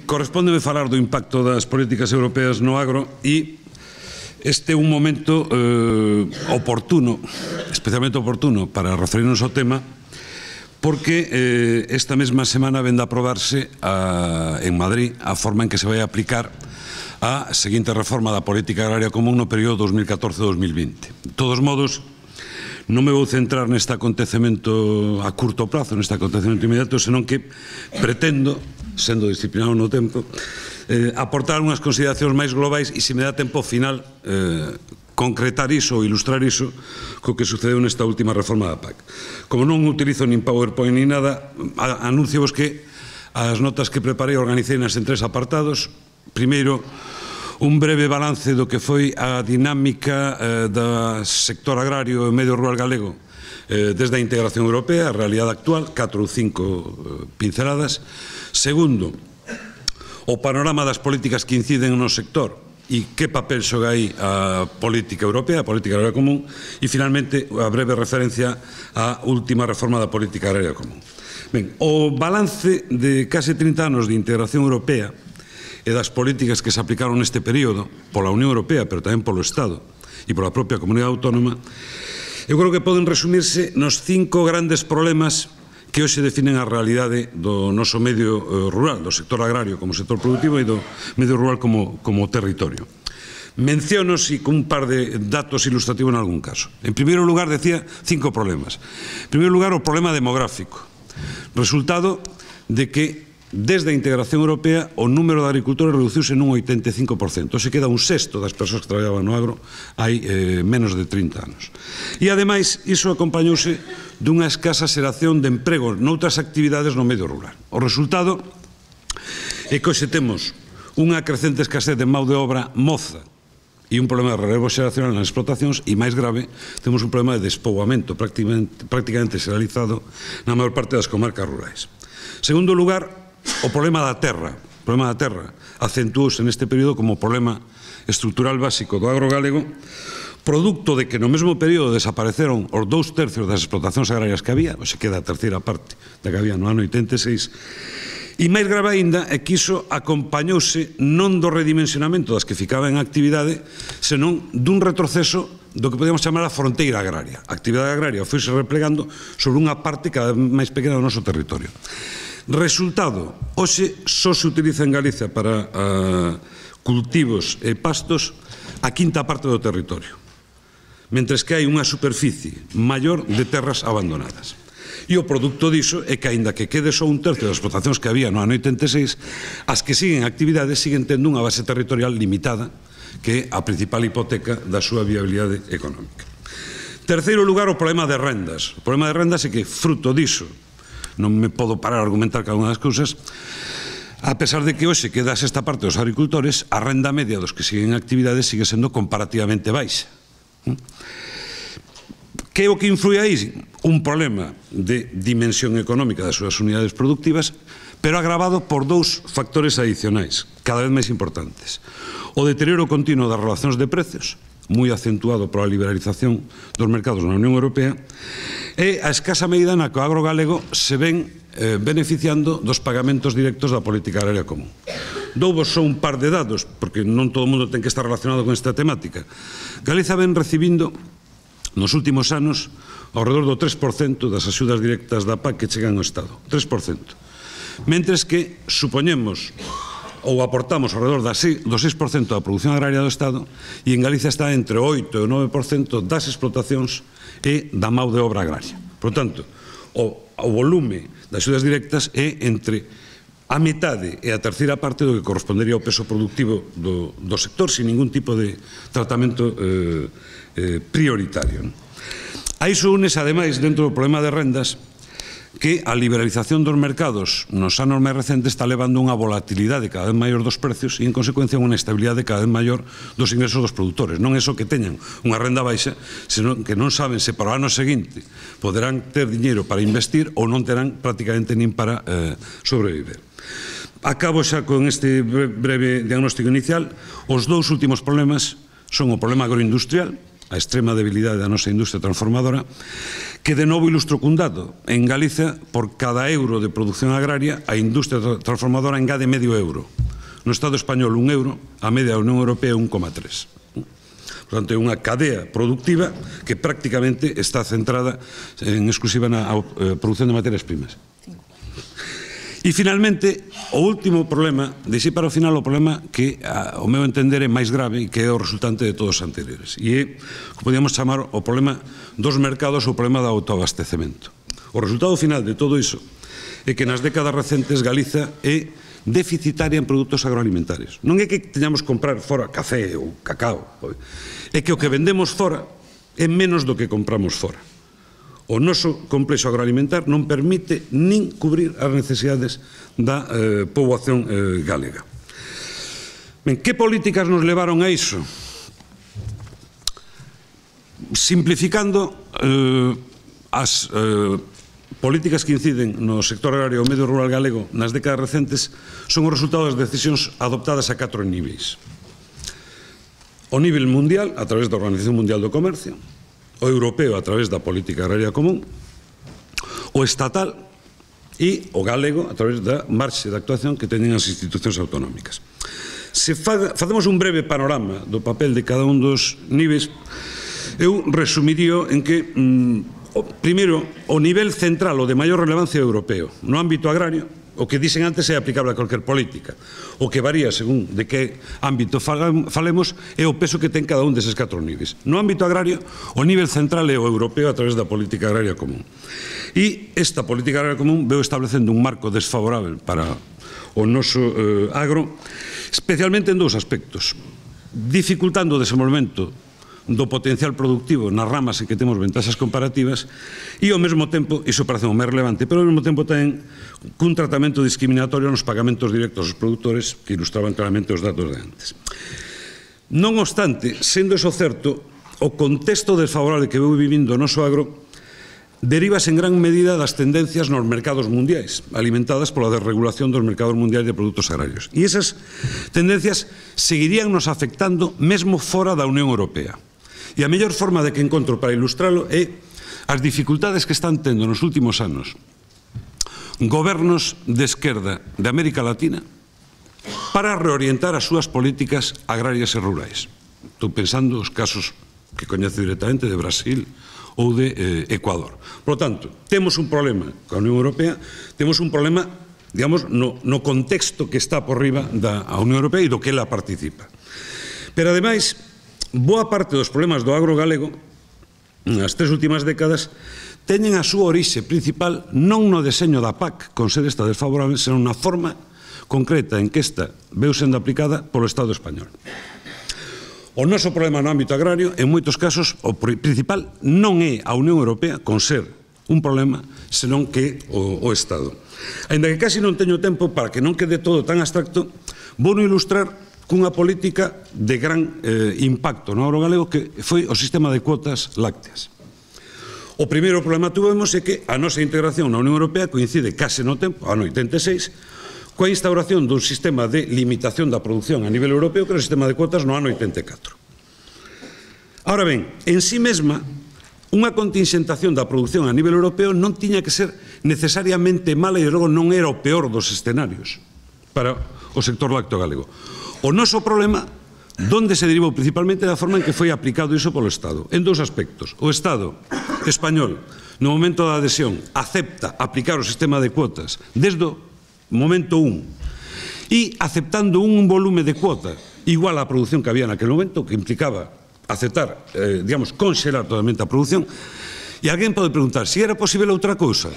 correspóndeme falar do impacto das políticas europeas no agro e este é un momento oportuno, especialmente oportuno, para referirnos ao tema, porque esta mesma semana vende a aprobarse en Madrid a forma en que se vai aplicar a seguinte reforma da política agraria común no período 2014-2020. De todos modos, non me vou centrar neste acontecemento a curto prazo, neste acontecemento inmediato, senón que pretendo, sendo disciplinado no tempo, aportar unhas consideracións máis globais e, se me dá tempo ao final, concretar iso ou ilustrar iso co que sucedeu nesta última reforma da PAC. Como non utilizo nin PowerPoint nin nada, anuncio-vos que as notas que preparei organiceinas en 3 apartados. Primeiro, un breve balance do que foi a dinámica do sector agrario e medio rural galego desde a integración europea, a realidade actual, 4 ou 5 pinceladas. Segundo, o panorama das políticas que inciden no sector e que papel xoga aí a política europea, a política agraria común, e finalmente a breve referencia á última reforma da política agraria común. Ben, o balance de case 30 anos de integración europea e das políticas que se aplicaron neste período pola Unión Europea, pero tamén polo Estado e pola propia comunidade autónoma, eu creo que poden resumirse nos 5 grandes problemas que hoxe definen a realidade do noso medio rural, do sector agrario como sector productivo e do medio rural como territorio. Menciónos e con un par de datos ilustrativos en algún caso. En primeiro lugar, decía 5 problemas. En primeiro lugar, o problema demográfico. Resultado de que desde a integración europea o número de agricultores reduciuse nun 85%. Se queda un sexto das persoas que traballaban no agro hai menos de 30 anos. E ademais, iso acompañouse dunha escasa xeración de emprego noutras actividades no medio rural. O resultado é que hoxe temos unha crecente escasez de mão de obra moza e un problema de relevo xeracional nas explotacións e, máis grave, temos un problema de despoboamento prácticamente xeralizado na maior parte das comarcas rurais. Segundo lugar, o problema da terra. O problema da terra acentuouse neste período como problema estrutural básico do agro galego, producto de que no mesmo período desapareceron os 2/3 das explotacións agrarias que había, ou se queda a terceira parte da que había no ano 86, e máis grave aínda é que iso acompañouse non do redimensionamento das que ficaban en actividade, senón dun retroceso do que podemos chamar a fronteira agraria. A actividade agraria foise replegando sobre unha parte cada vez máis pequena do noso territorio. Resultado, hoxe só se utiliza en Galicia para cultivos e pastos a quinta parte do territorio, mentres que hai unha superficie maior de terras abandonadas. E o produto diso é que, aínda que quede só un tercio das explotacións que había no ano 86, as que siguen actividades siguen tendo unha base territorial limitada, que é a principal hipoteca da súa viabilidade económica. Terceiro lugar, o problema de rendas. O problema de rendas é que, fruto diso, non me podo parar a argumentar cada unha das cousas, a pesar de que hoxe queda a sexta parte dos agricultores, a renda media dos que siguen en actividades sigue sendo comparativamente baixa. Que é o que influi aí? Un problema de dimensión económica das súas unidades productivas, pero agravado por 2 factores adicionais, cada vez máis importantes. O deterioro continuo das relacións de precios, moi acentuado pola liberalización dos mercados na Unión Europea, e a escasa medida na que o agro galego se ven beneficiando dos pagamentos directos da política agraria común. Douvos só un par de dados, porque non todo o mundo ten que estar relacionado con esta temática. Galiza ven recibindo nos últimos anos ao redor do 3% das axudas directas da PAC que chegan ao Estado. 3%. Mentres que supoñemos ou aportamos ao redor do 6% da produción agraria do Estado e en Galicia está entre o 8% e o 9% das explotacións e da mão de obra agraria. Por tanto, o volume das axudas directas é entre a metade e a terceira parte do que correspondería ao peso productivo do sector sin ningún tipo de tratamento prioritario. A iso únese, ademais, dentro do problema de rendas, que a liberalización dos mercados nos anos máis recentes está levando unha volatilidade cada vez maior dos precios e, en consecuencia, unha estabilidade cada vez maior dos ingresos dos produtores. Non é só que teñan unha renda baixa, senón que non saben se para o ano seguinte poderán ter diñeiro para investir ou non terán prácticamente nin para sobreviver. Acabo xa con este breve diagnóstico inicial. Os 2 últimos problemas son o problema agroindustrial, a extrema debilidade da nosa industria transformadora, que de novo ilustro cun dato. En Galicia, por cada euro de produción agraria, a industria transformadora engade medio euro. No Estado español, 1 euro, a media da Unión Europea 1,3. Por tanto, é unha cadea productiva que prácticamente está centrada en exclusiva na produción de materias primas. E, finalmente, o último problema, deixei para o final o problema que, ao meu entender, é máis grave e que é o resultante de todos os anteriores. E é, como podíamos chamar, o problema dos mercados ou o problema do autoabastecemento. O resultado final de todo iso é que nas décadas recentes Galiza é deficitaria en produtos agroalimentarios. Non é que teñamos que comprar fora café ou cacao, é que o que vendemos fora é menos do que compramos fora. O noso complexo agroalimentar non permite nin cubrir as necesidades da poboación galega. Ben, que políticas nos levaron a iso? Simplificando, as políticas que inciden no sector agrario e o medio rural galego nas décadas recentes son o resultado das decisións adoptadas a 4 niveis. O nivel mundial, a través da Organización Mundial do Comercio, o europeo a través da política agraria común, o estatal e o galego a través da marxe de actuación que teñen as institucións autonómicas. Se facemos un breve panorama do papel de cada un dos niveis, eu resumiría en que, primeiro, o nivel central, o de maior relevancia europeo, no ámbito agrario, o que dixen antes é aplicable a cualquier política. O que varía según de que ámbito falemos é o peso que ten cada un deses 4 niveis. No ámbito agrario, o nivel central é o europeo a través da política agraria común. E esta política agraria común veu establecendo un marco desfavorable para o noso agro, especialmente en 2 aspectos. Dificultando o desenvolvemento do potencial productivo nas ramas en que temos ventaxas comparativas e, ao mesmo tempo, iso parece o máis relevante, pero ao mesmo tempo ten un tratamento discriminatorio nos pagamentos directos aos produtores que ilustraban claramente os datos de antes. Non obstante, sendo eso certo, o contexto desfavorable que veu vivindo o noso agro derivas en gran medida das tendencias nos mercados mundiais, alimentadas pola desregulación dos mercados mundiais de produtos agrarios. E esas tendencias seguirían nos afectando mesmo fora da Unión Europea. E a mellor forma de que encontro para ilustralo é as dificultades que están tendo nos últimos anos gobernos de esquerda de América Latina para reorientar as súas políticas agrarias e rurais. Estou pensando os casos que coñezo directamente de Brasil ou de Ecuador. Por lo tanto, temos un problema coa Unión Europea, temos un problema, digamos, no contexto que está por riba da Unión Europea e do que ela participa. Pero, ademais, boa parte dos problemas do agro galego nas 3 últimas décadas teñen a súa orixe principal non no deseño da PAC, con ser esta desfavorable, senón na forma concreta en que esta veu sendo aplicada polo Estado español. O noso problema no ámbito agrario, en moitos casos, o principal non é a Unión Europea, con ser un problema, senón que o Estado. Ainda que casi non teño tempo, para que non quede todo tan abstracto, vou ilustrar cunha política de gran impacto no agro galego que foi o sistema de cuotas lácteas. O primeiro problema que tuvemos é que a nosa integración na Unión Europea coincide case no tempo, ano 86, coa instauración dun sistema de limitación da produción a nivel europeo que é o sistema de cuotas no ano 84. Ahora ben, en sí mesma, unha contingentación da produción a nivel europeo non tiña que ser necesariamente mala e logo non era o peor dos escenarios para o sector lácteo galego. O noso problema, donde se derivou principalmente da forma en que foi aplicado iso polo Estado, en 2 aspectos. O Estado español, no momento da adhesión, acepta aplicar o sistema de cuotas desde o momento 1 e aceptando un volume de cuota igual á produción que había naquele momento, que implicaba aceptar, digamos, conxelar totalmente a produción. E alguén pode preguntar, se era posible outra cousa?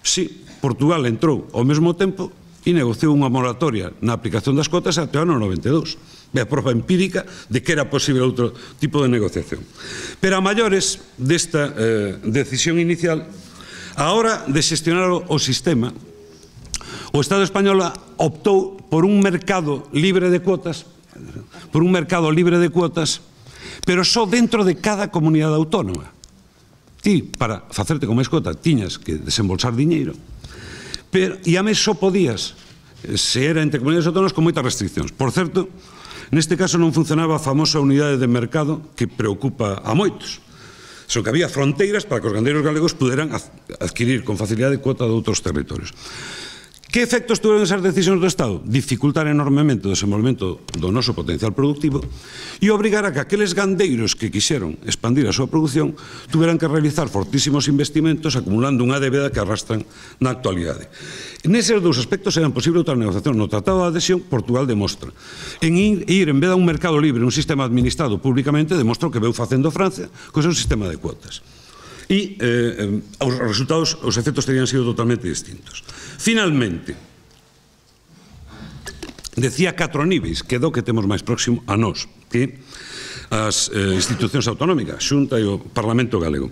Si, Portugal entrou ao mesmo tempo e negociou unha moratoria na aplicación das cotas até o ano 92. É a prova empírica de que era posible outro tipo de negociación. Pero a maiores desta decisión inicial, a hora de xestionar o sistema, o Estado español optou por un mercado libre de cuotas, pero só dentro de cada comunidade autónoma. Ti, para facerte con máis cuota, tiñas que desembolsar diñeiro, e a mes só podías, se era entre comunidades autónomas, con moitas restriccións. Por certo, neste caso non funcionaba a famosa unidade de mercado que preocupa a moitos, Senón que había fronteiras para que os gandeiros galegos puderan adquirir con facilidade cuota de outros territorios. Que efectos tuveron esas decisións do Estado? Dificultar enormemente o desenvolvemento do noso potencial productivo e obrigar a que aqueles gandeiros que quixeron expandir a súa produción tuveran que realizar fortísimos investimentos acumulando unha débeda que arrastran na actualidade. Neses dous aspectos eran posible outra negociación. No Tratado de Adhesión, Portugal demostra. En vez de un mercado libre, un sistema administrado públicamente, demostra o que veu facendo Francia co seu sistema de cuotas. E os resultados, os efectos terían sido totalmente distintos. Finalmente, decía 4 níveis, que é do que temos máis próximo a nós, que as institucións autonómicas, Xunta e o Parlamento Galego.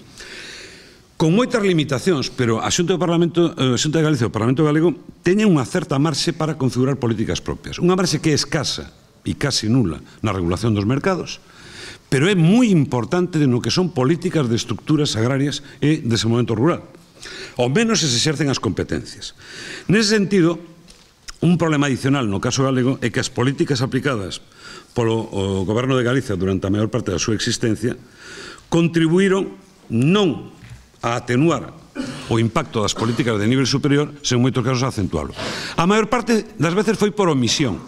Con moitas limitacións, pero a Xunta de Galicia e o Parlamento Galego teñen unha certa marxe para configurar políticas propias. Unha marxe que é escasa e casi nula na regulación dos mercados, pero é moi importante no que son políticas de estructuras agrarias e desenvolvemento rural. Ao menos se exercen as competencias. Nese sentido, un problema adicional no caso galego é que as políticas aplicadas polo Goberno de Galicia durante a maior parte da súa existencia contribuíron non a atenuar o impacto das políticas de nivel superior, sen moitos casos a acentuálo. A maior parte das veces foi por omisión,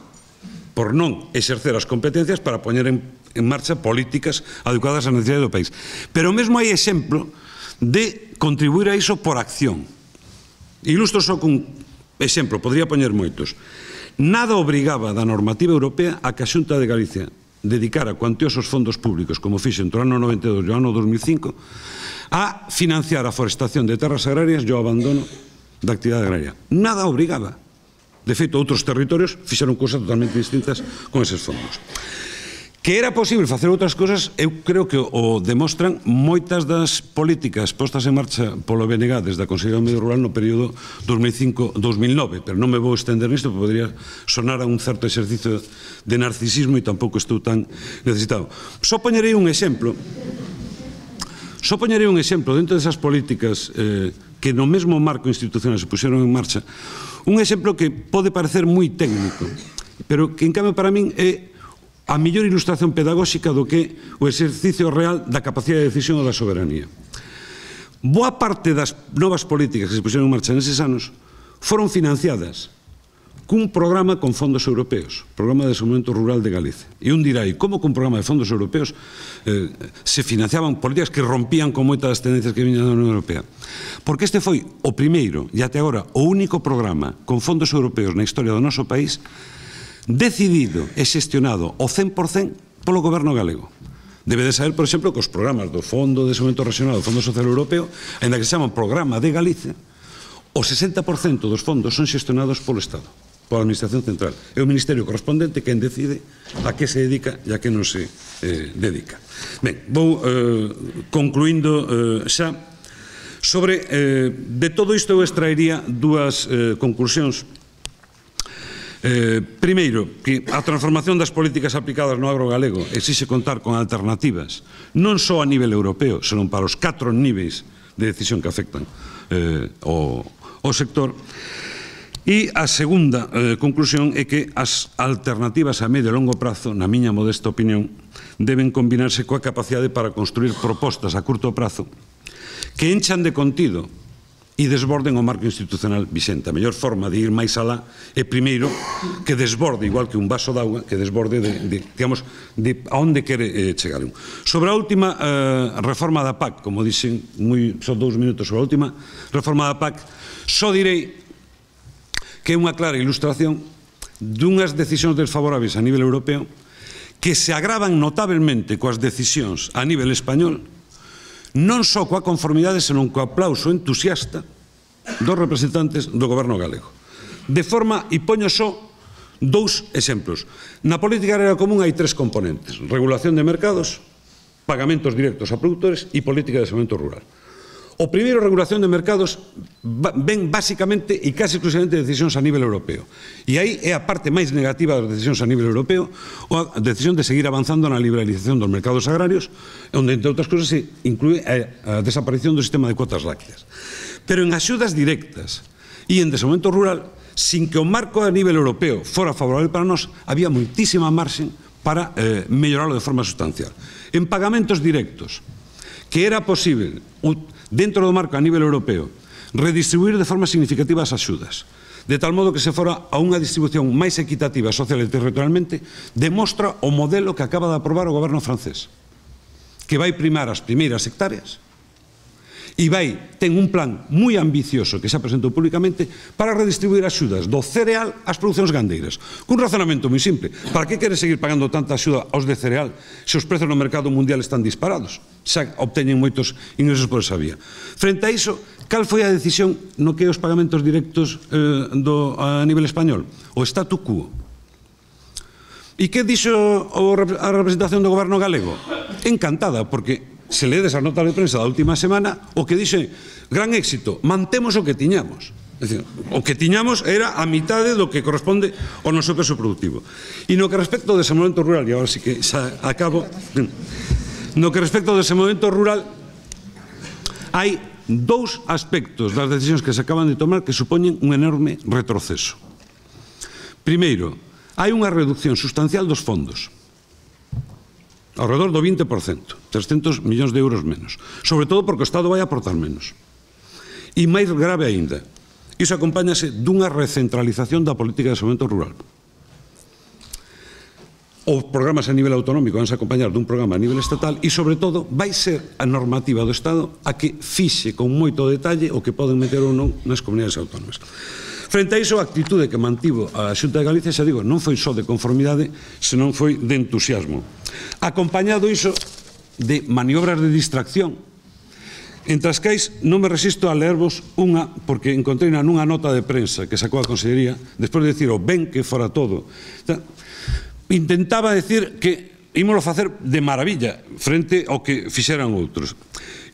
por non exercer as competencias para poñer en marcha políticas adecuadas ás necesidades do país. Pero mesmo hai exemplo de contribuir a iso por acción. Ilustro só cun exemplo, podría poñer moitos. Nada obrigaba da normativa europea a que a Xunta de Galicia dedicara cuantiosos fondos públicos, como fixe entre o ano 92 e o ano 2005, a financiar a forestación de terras agrarias e o abandono da actividade agraria. Nada obrigaba. De feito, outros territorios fixeron cousas totalmente distintas con eses fondos. Que era posible facer outras cousas, eu creo que o demostran moitas das políticas postas en marcha polo BNG desde a Consellería do Medio Rural no período 2005-2009, pero non me vou estender nisto, porque podría sonar a un certo exercicio de narcisismo e tampouco estou tan necesitado. Só poñerei un exemplo dentro desas políticas que no mesmo marco institucional se puxeron en marcha, un exemplo que pode parecer moi técnico, pero que en cambio para min é a mellor ilustración pedagóxica do que o exercicio real da capacidade de decisión ou da soberanía. Boa parte das novas políticas que se puxeron en marcha neses anos foron financiadas cun programa con fondos europeos, Programa de Desenvolvemento Rural de Galicia. E un dirá, e como con programa de fondos europeos se financiaban políticas que rompían con moitas das tendencias que viñan da Unión Europea? Porque este foi o primeiro, e até agora, o único programa con fondos europeos na historia do noso país decidido e xestionado ao 100% polo Goberno galego. Debe de saber, por exemplo, que os programas do Fondo de Desenvolvemento Regional do Fondo Social Europeo, ainda que se chaman Programa de Galicia, o 60% dos fondos son xestionados polo Estado, pola Administración Central. É o Ministerio correspondente quen decide a que se dedica e a que non se dedica. Ben, vou concluindo xa. Sobre, de todo isto eu extraería dúas conclusións. Primeiro, que a transformación das políticas aplicadas no agro galego exixe contar con alternativas non só a nivel europeo, senón para os 4 níveis de decisión que afectan o sector. E a segunda conclusión é que as alternativas a medio e longo prazo, na miña modesta opinión, deben combinarse coa capacidade para construir propostas a curto prazo que enchan de contido e desborden o marco institucional vixente. A mellor forma de ir máis alá é primeiro que desborde, igual que un vaso de auga, que desborde digamos, de a onde quere chegar. Sobre a última reforma da PAC, como dixen, só 2 minutos sobre a última reforma da PAC, só direi que é unha clara ilustración dunhas decisións desfavorables a nivel europeo que se agravan notablemente coas decisións a nivel español, non só coa conformidade, senón co aplauso entusiasta dos representantes do Goberno galego. De forma, e poño só 2 exemplos. Na política agraria común hai 3 componentes: regulación de mercados, pagamentos directos a produtores e política de desenvolvemento rural. O primeiro, regulación de mercados, ven basicamente e casi exclusivamente de decisións a nivel europeo. E aí é a parte máis negativa das decisións a nivel europeo, a decisión de seguir avanzando na liberalización dos mercados agrarios, onde, entre outras cousas, se inclúe a desaparición do sistema de cuotas lácteas. Pero en axudas directas e en desenvolvemento rural, sin que o marco a nivel europeo fora favorable para nós, había moitísima marxen para mellorarlo de forma sustancial. En pagamentos directos, que era posible, dentro do marco a nivel europeo, redistribuir de forma significativa as axudas, de tal modo que se fora a unha distribución máis equitativa social e territorialmente, demostra o modelo que acaba de aprobar o goberno francés, que vai primar as primeiras hectáreas e ten un plan moi ambicioso que xa presentou públicamente para redistribuir axudas do cereal ás producións gandeiras. Cun razonamento moi simple. Para que quere seguir pagando tanta axuda aos de cereal se os prezos no mercado mundial están disparados? Xa obteñen moitos ingresos por esa vía. Frente a iso, cal foi a decisión no que os pagamentos directos a nivel español? O statu quo. E que dixo a representación do goberno galego? Encantada, porque se ledes as notas de prensa da última semana, o que dixe, gran éxito, mantemos o que tiñamos. É dicir, o que tiñamos era a mitade do que corresponde ao noso peso productivo. E no que respecto ao desenvolvemento rural, e agora sí que xa acabo, no que respecto ao desenvolvemento rural, hai dous aspectos das decisións que se acaban de tomar que supoñen un enorme retroceso. Primeiro, hai unha reducción sustancial dos fondos, ao redor do 20%, 300 millóns de euros menos, sobre todo porque o Estado vai aportar menos. E máis grave aínda, iso acompáñase dunha recentralización da política de desenvolvemento rural. Os programas a nivel autonómico van a acompañar dun programa a nivel estatal e, sobre todo, vai ser a normativa do Estado a que fixe con moito detalle o que poden meter ou non nas comunidades autónomas. Frente a iso, a actitude que mantivo a Xunta de Galicia, xa digo, non foi só de conformidade, senón foi de entusiasmo. Acompañado iso de maniobras de distracción, entre as quais non me resisto a leervos unha, porque encontrei nunha nota de prensa que sacou a Consellería, despois de dicir o ben que fora todo, intentaba decir que ímolo facer de maravilla frente ao que fixeran outros.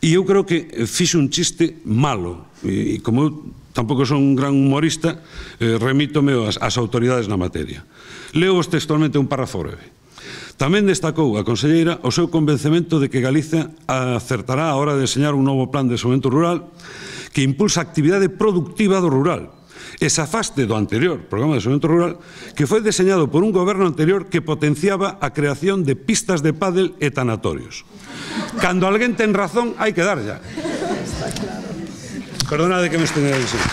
E eu creo que fixe un chiste malo, e como eu tampouco son un gran humorista, remítome ás autoridades na materia. Leo-vos textualmente un párrafo breve. Tamén destacou a conselleira o seu convencemento de que Galicia acertará a hora de deseñar un novo plan de desenvolvemento rural que impulsa a actividade productiva do rural e se afaste do anterior programa de desenvolvemento rural que foi deseñado por un goberno anterior que potenciaba a creación de pistas de pádel e tanatorios. Cando alguén ten razón, hai que dar ya. Perdonade que me estendera dicindo.